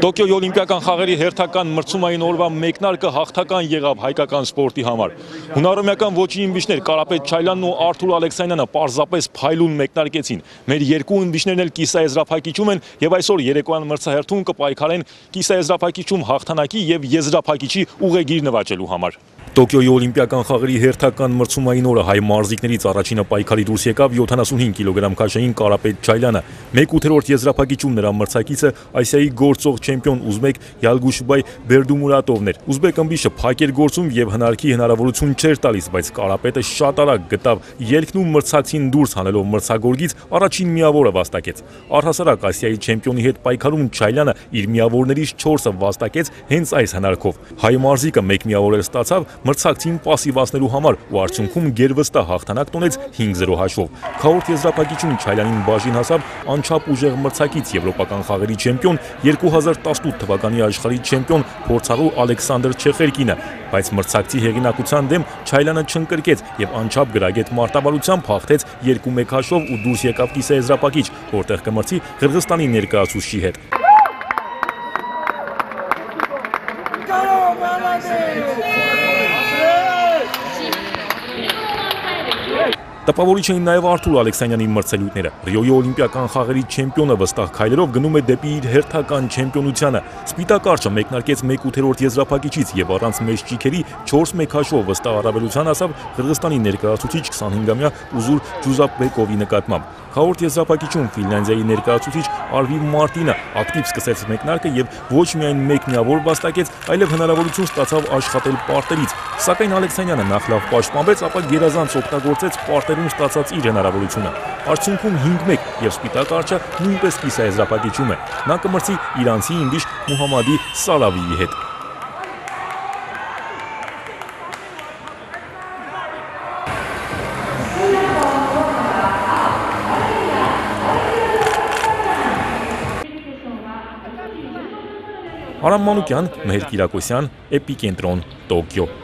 Տոկիոյի օլիմպիական խաղերի հերթական մրցումային օրվա մեկնարկը հաղթական եղավ հայկական սպորտի համար։ Հունարոմեական ոչի իմբիչներ Կարապետ Չայլյանն ու Արթուր Ալեքսանյանը պարզապես փայլուն մեկնարկեցին։ Մեր երկու իմբիչներն էլ կիսաեզրափակիչում են եւ այսօր երեկոյան մրցահերթում կպայքարեն կիսաեզրափակիչում հաղթանակի եւ եզրափակիչի ուղեգիր նվաճելու համար։ Տոկիոյի օլիմպիական խաղերի հերթական մրցումային օրը հայ մարզիկներից առաջինը պայքարի դուրս եկավ 75 կիլոգրամ քաշային Կարապետ Չայլյանը։ 1/8 եզրափակիչում նրա մրցակիցը Ասիայի գործող չեմպիոն ուզբեկ Յալգուշբայ Բերդումուրատովն էր։ Ուզբեկ ըմբիշը փակ էր գործում եւ հնարքի հնարավորություն չէր տալիս, բայց Կարապետը շատ արագ գտավ ելքն ու մրցակցին դուրս հանելով մրցագորգից առաջին միավորը վաստակեց։ Առհասարակ Ասիայի չեմպիոնի հետ պայքարում Չայլյանը իր միավորներից 4-ը վաստակեց հենց այս հնարքով։ Հայ մարզիկը 1 միավոր էլ ստացավ մրցակցին պասիվացնելու համար ու արդյունքում գերվստահ հաղթանակ տոնեց 5-0 հաշվով։ Քառորդ եզրափակիչում Չայլյանին բաժին հասավ անչափ ուժեղ մրցակից եվրոպական խաղերի չեմպիոն 2018 թվականի աշխարհի չեմպիոն փորձառու Ալեքսանդր Չեխերկինը, բայց մրցակցի հեղինակության դեմ Չայլյանը չընկրկեց եւ անչափ գրագետ մարտավարությամբ հաղթեց 2-1 հաշվով ու դուրս եկավ կիսաեզրափակիչ, որտեղ կմրցի Қырғызստանի ներկայացուցչի հետ։ Տպավորիչ էին նաև Արթուր Ալեքսանյանի մրցելույթները։ Ռիոյի օլիմպիական խաղերի չեմպիոնը վստահ քայլերով գնում է դեպի իր հերթական չեմպիոնությանը։ Սպիտակ արջը մեկնարկեց 1/8 եզրափակիչից եւ առանց մեծ ճիքերի 4-1 հաշվով վստահ առավելության հասավ Қырғызստանի ներկայացուցիչ 25-ամյա Ուզուր Ջուզապբեկովի նկատմամբ։ Քառորդ եզրափակիչում Ֆինլանդիայի ներկայացուցիչ Արվի Մարտինը ակտիվ սկսեց մեկնարկը եւ ոչ միայն 1 միավոր վաստակեց, այլև հնարավորություն ստացավ աշխատել պարտերից։ Սակայն Ալեքսանյանը նախ լավ պաշտպանվեց, ապա գերազանց օգտագործեց պարտերում ստացած իր հնարավորությունը։ Արդյունքում 5-1 եւ սպիտակ արջը նույնպես կիսաեզրափակիչում է։ Նա կմրցի իրանցի իմբիշ Մուհամմադի Սալավիի հետ։ Արամ Մանուկյան, Մեհեր Կիրակոսյան, Էպիկենտրոն, Տոկիո։